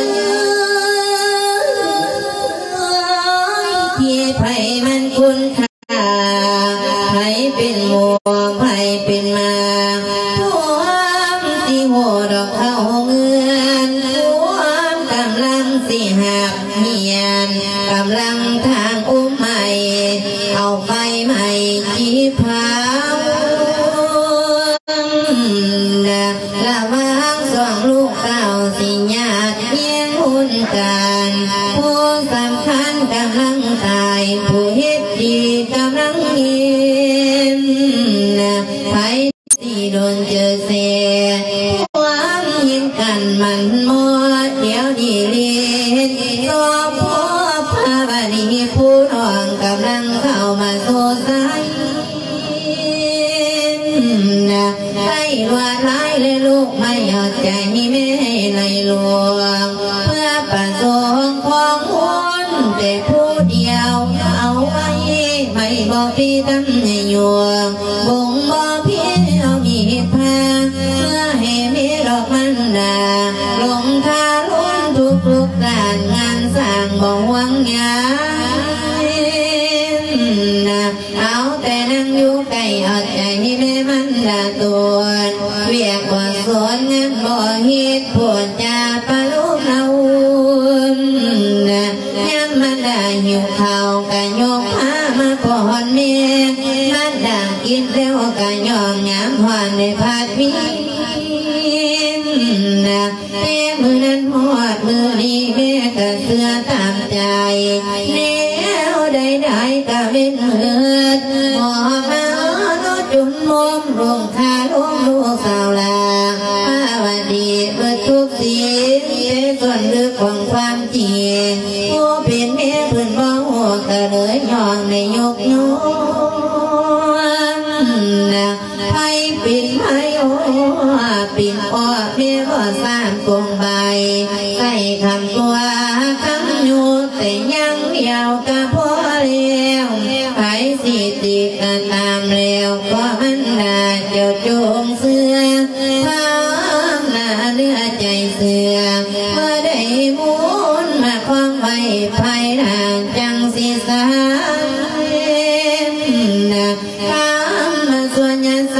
ທີ່ໃຜມັນຄຸນຄ່າ ໃຜເປັນໝູ່ ໃຜເປັນມາ ພວມຊິຮູ້ດອກເຂົ້າເຮືອນ ພວມກຳລັງຊິຮັບ ຮຽນກຳລັງທາງອຸມໄໝ ເອົາໄຟໄໝຈີບເຜົາ ລະຫວ່າງສອງລູກເຕົ້າ ຊິຍາດແຍ່ງຮຸ່ນກັນ ຜູ້ສຳຄັນກຳລັງຕາຍ ຜູ້ເຮັດດີກຳລັງເຫັນ ໃຜ ທີ່ດົນເຈີແຊ ຄວາມເຫັນກັນໝັ້ນໝໍ ດຽວນີ້ເລີນ ສອບພອບພາວະນີ ຜູ້ນ້ອງກຳລັງເຂົ້າມາສູ່ໄຊ ໃຫ້ລວດລາຍ ແລະລູກໄມ້ເອົາໃຈແມ່ໃຫ້ໄຫຼຫຼວງ ເພື່ອປະສົງຂອງຄົນແຕ່ຜູ້ດຽວ ເອົາໄວ້ໄມ້ບໍ່ພີຕຳໃຫຍ່ຍວງ ບົ່ງບໍ່ພີເອົາມີດພາ ເພື່ອໃຫ້ແມ່ດອກມານດາ ລົງທາລຸນທຸກໆດ້ານ ງານສ້າງບໍ່ຫ່ວງຍານນະ ເອົາແຕ່ນັ່ງຢູ່ໃກ້ ເອົາໃຈແມ່ມັນດາຕົນ ວຽກບໍ່ສົນງານບໍ່ເຮັດ ໂພດຈາປະໂລມລະອຸ່ນນະ ຍາມມັນດາຫິວເຂົ້າກະຍົກພາມາປ້ອນແມ່ ມັນດາກິນແລ້ວກະຍ້ອມຍາມຮ້ອນໄດ້ພັດວິນນະ ແຕ່ມື້ນັ້ນຮອດມື້ນີ້ແມ່ກະເຊື່ອຕາມໃຈ ແນວໃດໆກະເວັນເໝິດ ຫອບມາເອົາຈຸ່ມໂຮມ ລົງຄາລົງລູກສາວຫຼ້າ ພາວະດີເບິດທຸກສິ່ງ ແຕ່ສ່ວນເລິກຂອງຄວາມຈິງ ຜູ້ເປັນແມ່ເພິ່ນບໍ່ຮູ້ ກະເລີຍຍ້ອງໄດ້ຍົກຍ້ອນນະ ໃຜເປັນໃຜ ໂອ້ ເປັນພໍ່ແມ່ບໍ່ສ້າງກົງໃບ ໃສ່ຄຳຕົວະຄຳຍຸ ແຕ່ຢ່າງດຽວກະພໍແລ້ວ ໃຜຊິຕິກະຕາມແລ້ວ ກໍມັນລະເຈົ້າຈົ່ງເຊື່ອ ພາວະນາເໜືອໃຈເຊື່ອ ເມື່ອໄດ້ບຸນມາຄອງໄວ້ ພາຍຫຼັງຈັ່ງຊິສຳເລັດນະ ຄຳມາຊວນຍາໃສ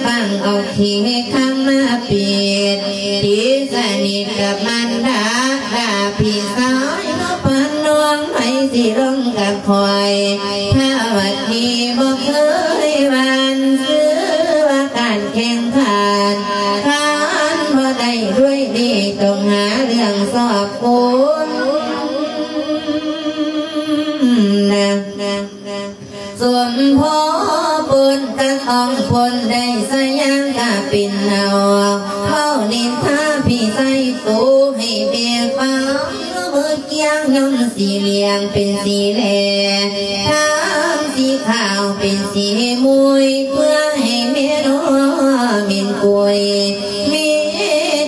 ຟັງເອົາທີ່ຄຳມາປິດ ຕີສະໜິດກັບມັນດາ ດາພີ່ຊາຍ ມາປານນ້ອງໃຜຊິລົງກັບຂ້ອຍ ຖ້າວັດນີ້ບໍ່ເຄີຍຫວັ່ນຊື້ ນນະ ສົມພໍປົນກັນອອງພົນໄດ້ສະຫຍັງກະເປັນເອົາ ເວົ້ານິນທາພິໄສໂຕໃຫ້ແມ່ຟັງ ມືກຽງຍ້ອມສີຫຼຽງເປັນສີແລ ທາງສີຂາວເປັນສີມຸຍ ເພື່ອໃຫ້ແມ່ນ້ອງເມັນກຸຍ ເມ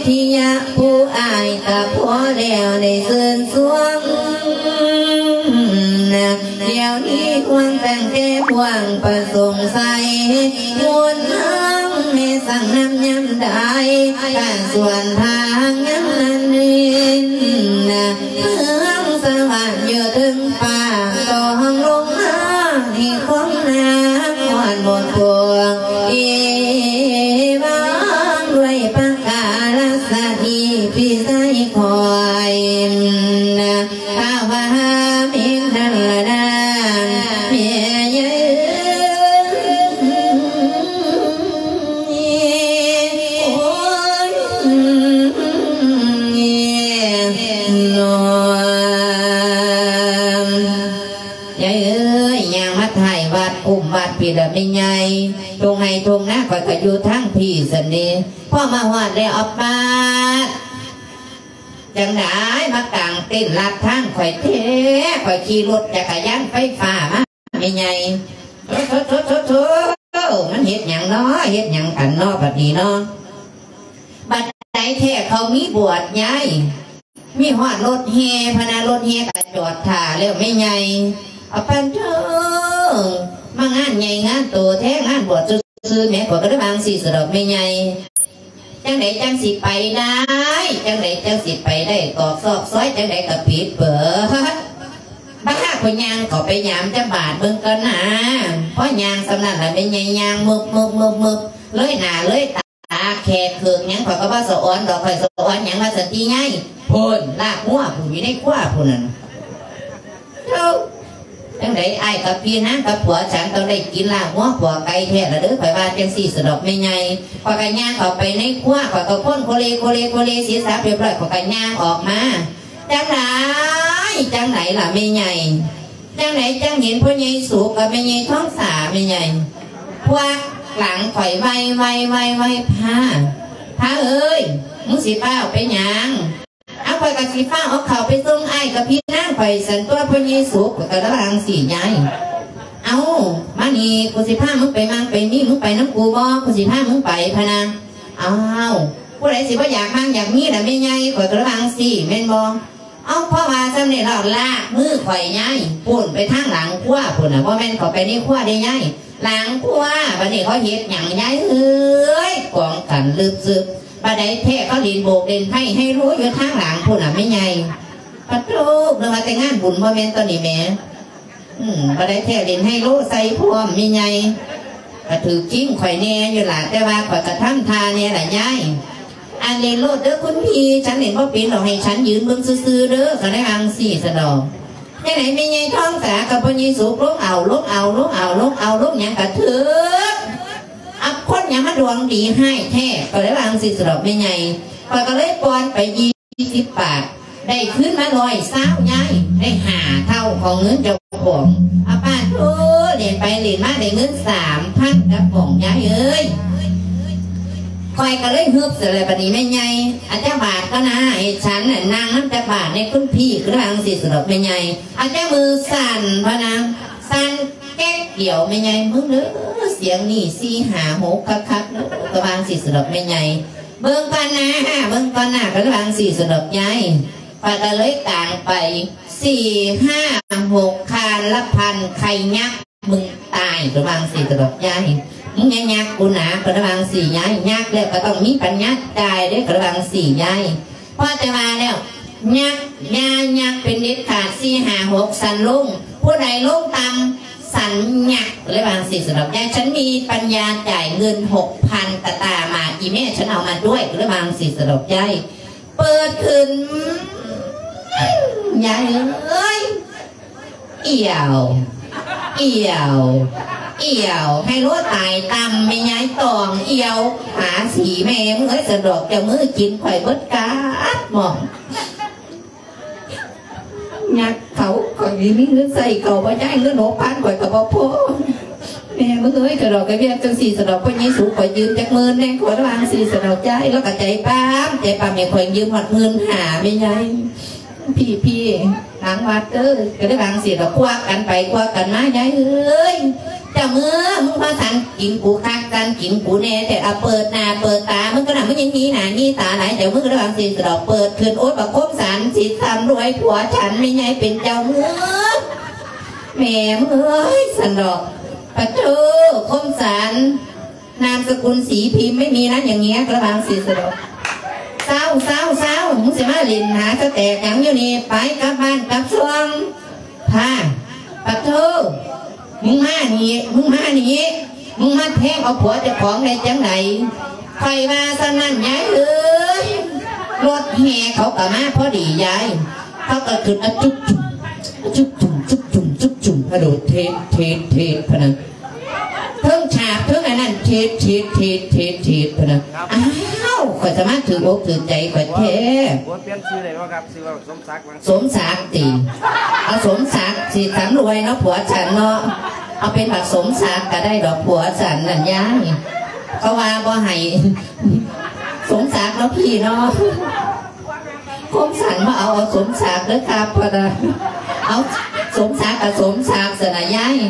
ທິຍະ ຜູ້ອ້າຍກະພໍແລ້ວໄດ້ເຊີນຊວນນະ ດຽວນີ້ຫ່ວງຕັ້ງແຕ່ຫ່ວງປະສົງໄສ ໝູນນາງແມ່ສັ່ງນຳຍາມໃດ ການສວນທາງຍາມນັ້ນເຫັນນະ ເມືອງສະຫວັນຢູ່ເທິງຟ້າ ຕ້ອງລົງມາໃຫ້ຂອງນາງຮອດໝົດພວງ ເອວັງ ດ້ວຍປະກາລະສະນີພິໄສຄອຍນະ ພະວາເມນທັນລະນາ ແມ່ໃຫຍ່ເອີຍ ໂອ້ຍ ນ້ອງ ຍາຍເອີຍ ຍ່າງມາທ້າຍວັດ ກຸ້ມວັດພີ້ລະແມ່ໃຫຍ່ ທົ່ງໄຮ່ທົ່ງນາຂ້ອຍກະຢູ່ທາງພີ້ຊັ້ນເດ ພໍມາຮອດແລ້ວ ອາປາດ ຈັ່ງໃດມາກາງເຕັນລັດທາງຂ້ອຍແທ້ ຂ້ອຍຂີ່ລົດຈັກກະຍານໄຟຟ້າມາແມ່ໃຫຍ່ ໂທ້ໆໆໆ ມັນເຮັດຫຍັງນໍ ເຮັດຫຍັງກັນນໍ ບັດນີ້ນໍ ບັດໃດແທ້ເຂົາມີບວດຍາຍ ມີຮອດລົດແຫ່ພະນະ ລົດແຫ່ກະຈອດຖ້າແລ້ວແມ່ໃຫຍ່ ອາປາດເທີ ມາງານໃຫຍ່ງານໂຕແທ້ ງານບວດຊື່ໆແໝ ຂ້ອຍກະເລີຍວ່າຈັ່ງຊີ້ສະດອກແມ່ໃຫຍ່ ຈັ່ງໃດຈັ່ງຊິໄປໄດ້ ຈັ່ງໃດຈັ່ງຊິໄປໄດ້ ຕອກຊອກຊອຍຈັ່ງໃດກະຜິດເບີດ ບາດຂ້ອຍຍ່າງເຂົ້າໄປຍາມຈະບາດເບິ່ງກ່ອນນາ ພໍຍ່າງສ່ຳນັ້ນລະແມ່ໃຫຍ່ຍ່າງເມີບໆໆ ເລີຍໜ້າເລີຍຕາ ແຂກເຂີກຫຍັງຂ້ອຍກະບໍ່ສະອອນດອກ ຂ້ອຍສະອອນຫຍັງວ່າຊັ້ນຕິຍາຍ ພຸ້ນ ລາກງົວພຸ້ນ ຢູ່ໃນຄົວພຸ້ນນັ້ນ ເຈົ້າ ຈັ່ງໃດອ້າຍກັບພີ່ນາງກັບຜົວ ສັນຕ້ອງໄດ້ກິນລາກງົວຂົ້ວໄກ່ແທ້ລະເດີ ຂ້ອຍວ່າຈັ່ງຊີ້ສະດອກແມ່ໃຫຍ່ ຂ້ອຍກະຍ່າງເຂົ້າໄປໃນຄົວ ຂ້ອຍກະພົ້ນໂຄເລໂຄເລໂຄເລ ເສຍສັບຮຽບຮ້ອຍ ຂ້ອຍກະຍ່າງອອກມາ ຈັ່ງໃດ ຈັ່ງໃດລະແມ່ໃຫຍ່ ຈັ່ງໃດຈັ່ງເຫັນພໍ່ໃຫຍ່ສຸກກັບແມ່ໃຫຍ່ທອງສາແມ່ໃຫຍ່ ພວກຫຼັງຂ້ອຍໄວໆໆ ພາ ພາເອີຍ ມຶງຊິຟ້າວໄປຫຍັງ ເອົາ ຂ້ອຍກະຊິຟ້າວເອົາເຂົ້າໄປສົ່ງອ້າຍກັບພີ່ນາງຂ້ອຍຊັ້ນຕົວະ ພໍ່ໃຫຍ່ສຸກ ຂ້ອຍກະລະວ່າຈັ່ງຊີ້ຍາຍ ເອົາ ມານີ້ ກູຊິພາມຶງໄປໝັ່ງໄປມີ ມຶງໄປນຳກູບໍ່ ກູຊິພາມຶງໄປພະນະ ອ້າວ ຜູ້ໃດຊິບໍ່ຢາກໝັ່ງຢາກມີລະແມ່ໃຫຍ່ ຂ້ອຍກະລະວ່າຈັ່ງຊີ້ແມ່ນບໍ່ ເອົາ ເພາະວ່າຊ່ຳນີ້ລະລາກມືຂ້ອຍຍາຍ ພຸ້ນໄປທາງຫຼັງຄົວພຸ້ນນະ ບໍ່ແມ່ນເຂົ້າໄປໃນຄົວເດ້ຍາຍ ຫຼັງຄົວ ບາດນີ້ເຂົາເຮັດຫຍັງຍາຍເອີຍ ກອງກັນລຶບຊຶບ ບາດໃດແທ້ເຂົາຫຼິ້ນໂບກຫຼິ້ນໄພ້ໄຮໂລຢູ່ທາງຫຼັງພຸ້ນນະແມ່ໃຫຍ່ ປະໂທ້ ນຶກວ່າແຕ່ງານບຸນບໍ່ແມ່ນຕົວນີ້ແໝ ອືມ ບາດໃດແທ້ຫຼິ້ນໄຮໂລໃສ່ພ້ອມແມ່ໃຫຍ່ ກະຖືກຈິງຂ້ອຍແດ່ຢູ່ລະ ແຕ່ວ່າຂ້ອຍກະທຳທ່າແດ່ລະຍາຍ ອັນ ຫຼິ້ນໂລດເດີຄຸນພີ່ ສັນຫຼິ້ນບໍ່ເປັນດອກ ໃຫ້ສັນຢືນເບິ່ງຊື່ໆເດີ ກະໄດ້ວ່າຈັ່ງຊີ້ສະດອກ ຈັ່ງໃດແມ່ໃຫຍ່ທອງສາກັບພໍ່ໃຫຍ່ສຸກ ລົງເອົາ ລົງເອົາ ລົງເອົາ ລົງເອົາ ລົງຫຍັງກະຖືກ ອັບຄົນຫຍັງມາດວງດີຮ້າຍແທ້ ກະໄດ້ວ່າຈັ່ງຊີ້ສະດອກແມ່ໃຫຍ່ ຂ້ອຍກະເລີຍປ່ອນໄປ ສີ່ສິບບາດ ໄດ້ຄືນມາຮ້ອຍຊາວຍາຍ ໄດ້ຫ້າເທົ່າຂອງເງິນເຈົ້າຂອງ ອາປາດໂທ ຫຼິ້ນໄປຫຼິ້ນມາໄດ້ເງິນສາມພັນກັບຂອງຍາຍເອີຍ ຂ້ອຍກະເລີຍຮຶບຊະແລ້ວ ບາດນີ້ແມ່ໃຫຍ່ ອາ ຈັກບາດກະນາ ໃຫ້ສັນນະນັ່ງນຳຈັກບາດແດ່ຄຸນພີ່ ກະວ່າຈັ່ງຊີ້ສະດອກແມ່ໃຫຍ່ ອາ ຈັກມືສັ່ນພະນະ ສັ່ນແກັກດຽວ ແມ່ໃຫຍ່ ມຶງເດີ ສຽງນີ້ ສີ່ ຫ້າ ຫົກ ຄັກໆເດີ ກະວ່າຈັ່ງຊີ້ສະດອກແມ່ໃຫຍ່ ເບິ່ງກ່ອນນາ ເບິ່ງກ່ອນນາ ກະວ່າຈັ່ງຊີ້ສະດອກຍາຍ ຂ້ອຍກະເລີຍກາງໄປ ສີ່ ຫ້າ ຫົກ ຄານລະພັນ ໄຂ່ຍັກ ມຶງຕາຍ ກະວ່າຈັ່ງຊີ້ສະດອກຍາຍ ມຶງຢ່າຍັກກູນາ ກະວ່າຈັ່ງຊີ້ຍາຍ ຍັກແລ້ວກະຕ້ອງມີປັນຍາຈ່າຍເດ້ ກະວ່າຈັ່ງຊີ້ຍາຍ ພໍແຕ່ວ່າແລ້ວ ຍັກ ຢ່າຍັກເປັນເດັດຂາດ ສີ່ ຫ້າ ຫົກ ສັນລົງ ຜູ້ໃດລົງຕ່ຳ ສັນຍັກ ກະວ່າຈັ່ງຊີ້ສະດອກຍາຍ ສັນມີປັນຍາຈ່າຍເງິນ ຫົກພັນ ກະຕາມາ ອີແມ່ ສັນເອົາມາດ້ວຍ ກະວ່າຈັ່ງຊີ້ສະດອກຍາຍ ເປີດຂຶ້ນ ຍາຍເອີຍ ອຽວ ອຽວ ອຽວ ໄຮໂລຕາຍຕ່ຳ ແມ່ຍາຍຕອງ ອຽວ ຫາສີແມ່ມຶງເອີຍ ສະດອກ ເຈົ້າມືກິນຂ້ອຍເບິດກາດໝອງ ຍັກເຂົາ ຂ້ອຍມີເງິນໃຊ້ເຂົາບໍ່ ຍາຍ ເງິນຫົກພັນຂ້ອຍກໍບໍ່ພໍ. ແມ່ມຶງເອີຍ ກະດອກກະເວຍຈັ່ງຊີ້ ສະດອກ ພໍ່ໃຫຍ່ສູ ຂ້ອຍຢືມຈັກໝື່ນແດ່ ຂ້ອຍວ່າຈັ່ງຊີ້ ສະດອກ ຍາຍ. ລາວກໍໃຈປ້າມ ໃຈປ້າມໃຫ້ຂ້ອຍຢືມຮອດໝື່ນຫ້າ ແມ່ຍາຍ. ພີ່ ພີ່ ຫຼັງວັດເດີ ກໍໄດ້ວ່າຈັ່ງຊີ້ດອກ ຄວັກກັນໄປຄວັກກັນມາ ຍາຍເອີຍ. ເຈົ້າເມືອ ມຶງພາສັນກິນກູຄັກ ສັນກິນກູແນ່ແທ້ ອາ ເປີດໜ້າເປີດຕາ ມຶງກໍນະ ມຶງຍັງມີໜ້າມີຕາຫຼາຍ ເຈົ້າເມືອ ກໍໄດ້ວ່າຈັ່ງຊີ້ດອກ ເປີດຂຶ້ນ ໂອດ ບັກຄົມສັນ ຊິສຳລວຍຜົວສັນ ແມ່ຍາຍເປັນເຈົ້າເມືອ ແມ່ມຶງເອີຍ ສັນດອກ. ປະໂທ ຄົມສັນ ນາມສະກຸນສີພິມ ໄມ່ມີນະ ຢ່າງເງຍ ກະລະວັງສີສະດອກ. ເຊົາ ເຊົາ ເຊົາ ມຶງຊິມາຫຼິ້ນຫາສະແຕກຫຍັງຢູ່ນີ້ ໄປກັບບ້ານກັບຊ່ອງ. ພາ ປະໂທ ມຶງມານີ້ ມຶງມານີ້ ມຶງມາແທງເອົາຜົວເຈົ້າຂອງໄດ້ຈັ່ງໃດ? ຂ້ອຍວ່າສ່ຳນັ້ນຍາຍເອີຍ. ລົດແຫ່ເຂົາກໍມາພໍດີຍາຍ ເຂົາກໍຂຶ້ນ ອະ ຈຸກຈຸ້ມ ອະ ຈຸກຈຸ້ມ ຈຸກຈຸ້ມ ຈຸກຈຸ້ມ ກະໂດດເທດ ເທດ ເທດ ພະນະ. ເທິງສາກເທິງອັນນັ້ນ ເທດ ເທດ ເທດ ເທດ ເທດ ພະນະ. ອ້າວ ຂ້ອຍສາມາດຖືກອົກຖືກໃຈຂ້ອຍແທ້. ຜົວປ່ຽນຊື່ໄດ້ບໍ່ຄັບ? ຊື່ວ່າສົມສັກຫວັງ ສົມສັກຕິ? ເອົາສົມສັກ ສີສຳລວຍເນາະ ຜົວສັນເນາະ. ເອົາເປັນບັກສົມສັກກໍໄດ້ດອກ ຜົວສັນນັ້ນຍາຍ. ເຂົາວ່າບໍ່ໃຫ້ສົມສັກເນາະ ພີ່ເນາະ. ຄົມສັນມາເອົາ ເອົາສົມສັກເດີຄັບ ພະນະ. ເອົາ ສົມສັກກໍສົມສັກຊັ້ນນະຍາຍ.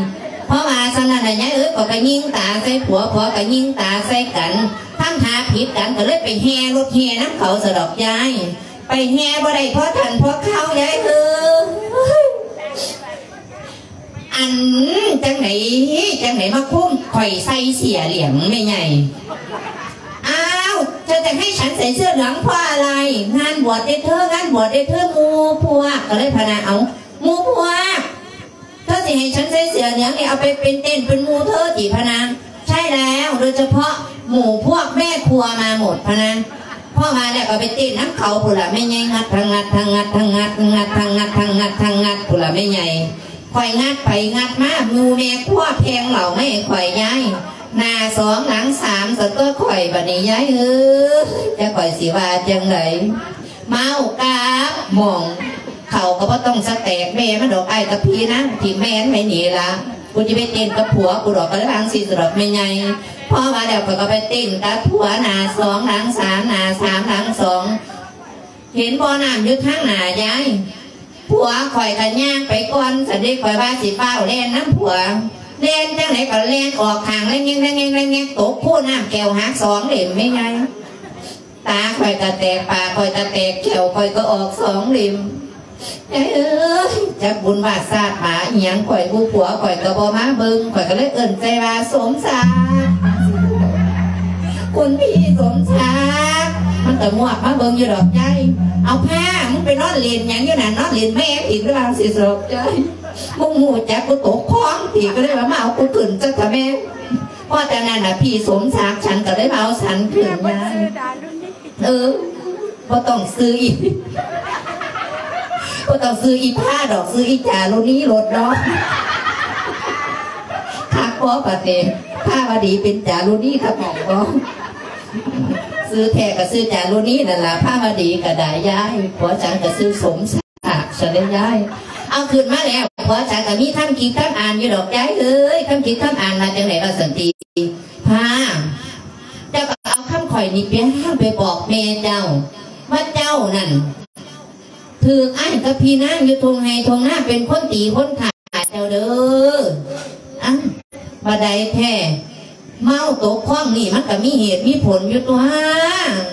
ເພາະວ່າຊັ້ນນະຍາຍເອີຍ ຂ້ອຍກໍຍິງຕາໃສ່ຜົວ ຜົວກໍຍິງຕາໃສ່ກັນ ທຳທ່າຜິດກັນ ກໍເລີຍໄປແຫ່ລົດແຫ່ນຳເຂົາຊະດອກຍາຍ. ໄປແຫ່ບໍ່ໄດ້ພໍທັນພໍຄາວຍາຍເອີຍ. ອັນ ຈັ່ງໃດ ຈັ່ງໃດມາຄຸມຂ້ອຍໃສ່ເສື້ອເຫຼືອງແມ່ໃຫຍ່? ອ້າວ ເຈົ້າຈະໃຫ້ສັນໃສ່ເສື້ອເຫຼືອງເພາະອະໄລ? ງານບວດເດ້ເທີ ງານບວດເດ້ເທີ ໝູ່ພວກ ກໍເລີຍພະນະ. ເອົາ ໝູ່ພວກ ເທີຊິໃຫ້ສັນໃສ່ເສື້ອເຫຼືອງນີ້ ເອົາໄປເປັນເຕັ້ນເປັນໝູ່ເທີຕິ ພະນະ? ໃຊ່ແລ້ວ ໂດຍສະເພາະໝູ່ພວກແມ່ຄົວມາໝົດ ພະນະ. ພໍວ່າແລ້ວກໍໄປເຕັ້ນນຳເຂົາພຸ້ນລະແມ່ໃຫຍ່ ງັດທັງງັດ ທັງງັດ ທັງງັດ ງັດທັງງັດ ທັງງັດ ທັງງັດ ພຸ້ນລະແມ່ໃຫຍ່. ຂ້ອຍງັດໄປງັດມາ ໝູ່ແມ່ຄົວແພ່ງເຫຼົ້າມາໃຫ້ຂ້ອຍຍາຍ ໜ້າສອງຫຼັງສາມ ສະຕົວະຂ້ອຍບາດນີ້ຍາຍເອີຍ. ຈັກຂ້ອຍຊິວ່າຈັ່ງໃດ? ເມົາກັບໝ່ອງ ເຂົາກໍບໍ່ຕ້ອງສະແຕກແມ່ມັນດອກ ອ້າຍກັບພີ່ນາງ ຖິ້ມແມ່ມັນໄວ້ນີ້ລະ ກູຊິໄປເຕັ້ນກັບຜົວກູດອກ ກໍເລີຍວ່າຈັ່ງຊີ້ສະດອກແມ່ໃຫຍ່. ພໍວ່າແລ້ວ ຂ້ອຍກໍໄປເຕັ້ນກັບຜົວ ໜ້າສອງຫຼັງສາມ ໜ້າສາມຫຼັງສອງ ເຫັນບໍ່ນ້ຳຢູ່ທາງໜ້າຍາຍ? ຜົວຂ້ອຍກໍຍ່າງໄປກ່ອນ ຊັ້ນເດ ຂ້ອຍວ່າຊິຟ້າວແລ່ນນຳຜົວ ແລ່ນຈັ່ງໃດກໍແລ່ນອອກຂ້າງ ແລ່ນແງກໆ ຕົກຄູນ້ຳແກ້ວຫັກສອງເຫຼັ້ມແມ່ໃຫຍ່. ຕາຂ້ອຍກໍແຕກ ປາກຂ້ອຍກໍແຕກ ແຂ້ວຂ້ອຍກໍອອກສອງເຫຼັ້ມ. ຍາຍເອີຍ ຈັກບຸນວາດຊາດໝາອີ່ຫຍັງຂ້ອຍບໍ່ ຜົວຂ້ອຍກໍບໍ່ມາເບິ່ງ ຂ້ອຍກໍເລີຍເອີ້ນໃສ່ວ່າ ສົມສັກ ຄຸນພີ່ສົມສັກ. ມັນກໍງວກມາເບິ່ງຢູ່ດອກຍາຍ. ເອົາ ພາ ມຶງໄປນອນຫຼິ້ນຫຍັງຢູ່ນັ້ນ? ນອນຫຼິ້ນແມ່ອີກຫຼືວ່າຊິສອບຍາຍ? ມຶງຮູ້ຈັກກູຕົກຄອງຕິ? ກໍເລີຍວ່າມາເອົາກູຂຶ້ນຊະເຖາະແມ່. ພໍຈາກນັ້ນນະ ພີ່ສົມສັກ ສັນກໍເລີຍມາເອົາສັນຂຶ້ນຍາຍ. ເອີ ບໍ່ຕ້ອງຊື່ອີ ບໍ່ຕ້ອງຊື່ອີພາດອກ ຊື່ອີຈາລຸນີໂລດເນາະ. ຄັກບໍ່ບາດນີ້ ພາວະດີເປັນຈາລຸນີ ຄັກໝ່ອງບໍ່? ຊື່ແທ້ກໍຊື່ຈາລຸນີນັ້ນລະ ພາວະດີກໍໄດ້ຍາຍ. ຜົວສັນກໍຊື່ສົມສັກຊະເດ້ຍາຍ. ເອົາ ຂຶ້ນມາແລ້ວ ຜົວສັນກໍມີຄຳຄິດຄຳອ່ານຢູ່ດອກຍາຍເອີຍ. ຄຳຄິດຄຳອ່ານວ່າຈັ່ງໃດວ່າຊັ້ນຕິ? ພາ ເຈົ້າກໍເອົາຄຳຂ້ອຍນີ້ໄປ ໄປບອກແມ່ເຈົ້າ ວ່າເຈົ້ານັ້ນຖືກອ້າຍກັບພີ່ນາງຢູ່ທົ່ງໄຮ່ທົ່ງນາເປັນຄົນຕີຄົນຂ້າເຈົ້າເດີ. ອ້າວ ບາດໃດແທ້? ເມົາຕົກຄອງນີ້ມັນກໍມີເຫດມີຜົນຢູ່ຕົວະ.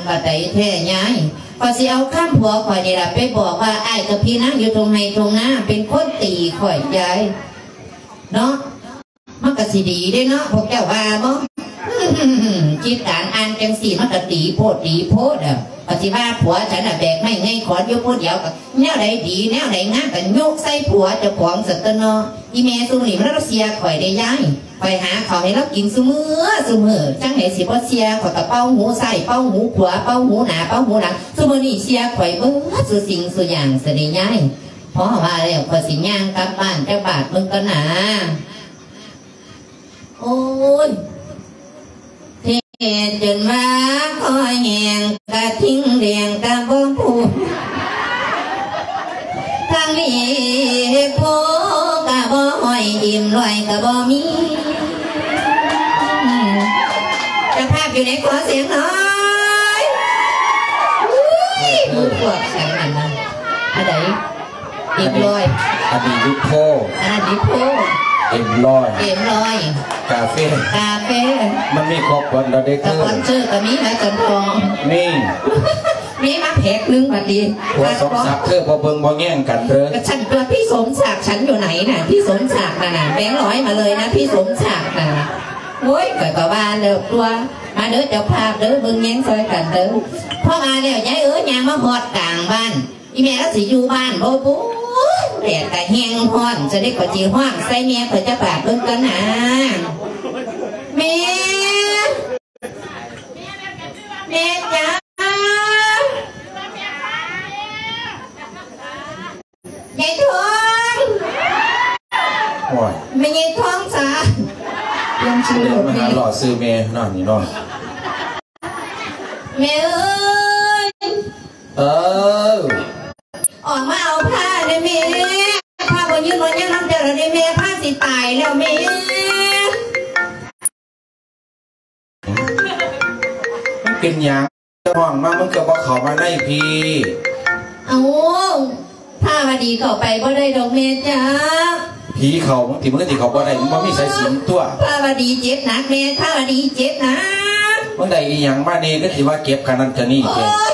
ບາດໃດແທ້ຍາຍ? ຂ້ອຍຊິເອົາຄຳຜົວຂ້ອຍນີ້ລະໄປບອກວ່າ ອ້າຍກັບພີ່ນາງຢູ່ທົ່ງໄຮ່ທົ່ງນາເປັນຄົນຕີຂ້ອຍຍາຍ ເນາະ. ມັນກະຊິດີເດ້ເນາະ ພວກເຈົ້າວ່າບໍ່? ຄິດການອ່ານຈັ່ງຊີ້ມັນກະດີໂພດດີໂພດ. ປະຕິວ່າຜົວສັນນະແບກໄມ້ໄງຂອນຢູ່ຜູ້ດຽວ ກະແນວໃດດີແນວໃດງາມກະໂຍກໃສ່ຜົວເຈົ້າຂອງຊັ້ນຕົວະເນາະ. ອີ່ແມ່ຊຸມນີ້ມັນລະເຊື່ອຂ້ອຍເດ້ຍາຍ. ຂ້ອຍຫາເຂົ້າໃຫ້ລາວກິນຊຸມື້ຊຸມື້ ຈັ່ງໃດຊິບໍ່ເຊື່ອ. ຂ້ອຍກະເປົ່າຫູຊ້າຍ ເປົ່າຫູຂວາ ເປົ່າຫູໜ້າ ເປົ່າຫູຫຼັງ ຊຸມື້ນີ້ເຊື່ອຂ້ອຍເບິດຊຸສິ່ງຊຸຢ່າງຊະເດ້ຍາຍ. ພໍວ່າແລ້ວ ຂ້ອຍຊິຍ່າງກັບບ້ານຈັກບາດເບິ່ງກ່ອນນາ. ໂອ້ຍ ເທດຈົນວ່າຄໍແຫ້ງ ກະທິ່ງແດງກະບໍ່ປູກ. ທາງນີ້ໂພກະບໍ່ຫ້ອຍ ເອັມຮ້ອຍກະບໍ່ມີ. ເຈົ້າພາບຢູ່ໃນ ຂໍສຽງໜ້ອຍ. ອຸ້ຍ ໝູ່ພວກສັງນັ້ນນະ ອັນໃດ? ເອັມຮ້ອຍ ອັນນີ້ ອັນນີ້ ໂພ ອັນນັ້ນ ໂພ ເອັມຮ້ອຍ ເອັມຮ້ອຍ ກາເຟ ກາເຟ ມັນມີຄອບຄົວແລ້ວເດ້ ສະປອນເຊີກະມີນະ ຈັນທອງ ນີ້ ມີມາແພັກໜຶ່ງບັດນີ້ ຜົວສົມສັກເທີ ບໍ່ເບິ່ງບໍ່ແຍງກັນເທີ. ກະຊັ້ນຕົວະ ພີ່ສົມສັກ ສັນຢູ່ໃນນະ? ພີ່ສົມສັກນັ້ນນະ ແບງຮ້ອຍມາເລີຍນະ ພີ່ສົມສັກນັ້ນນະ. ໂອ້ຍ ຂ້ອຍກະວ່າແລ້ວຕົວະ ມາເດີເຈົ້າພາບເດີ ເບິ່ງແຍງຊ່ອຍກັນເດີ. ພໍວ່າແລ້ວ ຍາຍເອີຍ ຍ່າງມາຮອດກາງບ້ານ ອີ່ແມ່ລາວຊິຢູ່ບ້ານບໍ່ບຸ? ແດດກະແຮງຮ້ອນ ຈະໄດ້ ຂ້ອຍຊິຮ້ອງໃສ່ແມ່ຂ້ອຍຈັກບາດເບິ່ງກ່ອນນາ. ແມ່ ແມ່ຈ໋າ ຍາຍທອງ ໂອ້ຍ ແມ່ຍາຍທອງສາ ຍັງຊື່ ມາຫາຫຼໍ່ຊື່ແມ່ເນາະນີ້ເນາະ. ແມ່ເອີຍ ເອີ ອອກມາເອົາຜ້າແດ່ແມ່ ຜ້າບໍ່ຍືນບໍ່ຍາງນຳເຈົ້າແລ້ວເດ້ແມ່ ຜ້າຊິຕາຍແລ້ວແມ່. ມັນເປັນຫຍັງ? ເຈົ້າຮ້ອງມາ ມັນກະບໍ່ເຂົ້າມາໃນພີ້. ເອົ້າ ພາວະດີເຂົ້າໄປບໍ່ໄດ້ດອກແມ່ຈ໋າ. ຜີເຂົ້າ ມັນຕິ ມັນກະຕິເຂົ້າບໍ່ໄດ້ ມັນບໍ່ມີສາຍສິນຕົວະ. ພາວະດີເຈັບໜັກແມ່ ພາວະດີເຈັບໜັກ. ມັນໄດ້ອີ່ຫຍັງມາແດ່ ກະຊິວ່າເຈັບຂະໜາດນັ້ນຂະນີ້ແທ້? ໂອ້ຍ